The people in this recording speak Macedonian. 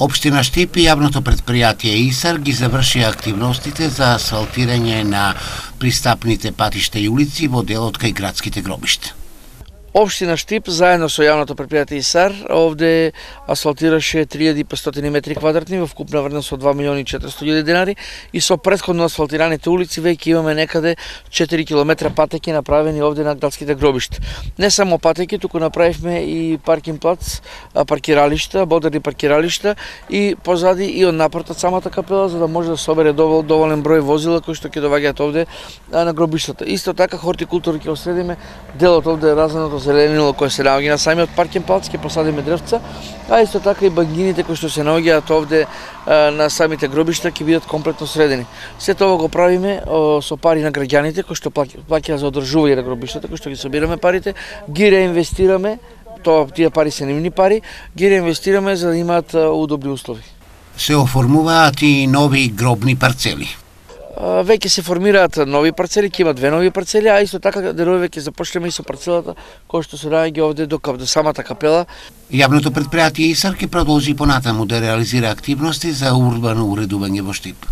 Општина Штип и јавното претпријатие ИСАР ги завршија активностите за асфалтирање на пристапните патишта и улици во делот кај градските гробишта. Општина Штип заедно со јавното претпријатие ИСАР овде асфалтираше 3500 метри квадратни во вкупна вредност од 2.400.000 денари и со претходно асфалтираните улици веќе имаме некаде 4 километра патеки направени овде на градските гробишта. Не само патеки, туку направивме и паркинг плац, паркиралишта, модерни паркиралишта и позади и од напред од самата капела за да може да собере доволен број возила кои што ќе доаѓаат овде на гробиштата. Исто така хортикултура ќе осредиме, делот овде е разменото зеленило кое се наоѓа на самиот паркинг плац, ќе посадиме дрвца, а исто така и багините кои што се наоѓаат овде на самите гробишта ќе бидат комплетно средени. Сето ова го правиме со пари на граѓаните кои што плаќаат за одржување на гробиштата, кои што ги собираме парите, ги реинвестираме, тие пари се нивни пари, ги реинвестираме за да имаат удобни услови. Се оформуваат и нови гробни парцели. Веќе се формираат нови парцели, ќе има 2 нови парцели, а исто така дерови ќе започнеме и со парцелата која што се наоѓа овде до самата капела. Јавното претпријатие ИСАР ќе продолжи понатаму да реализира активности за урбано уредување во Штип.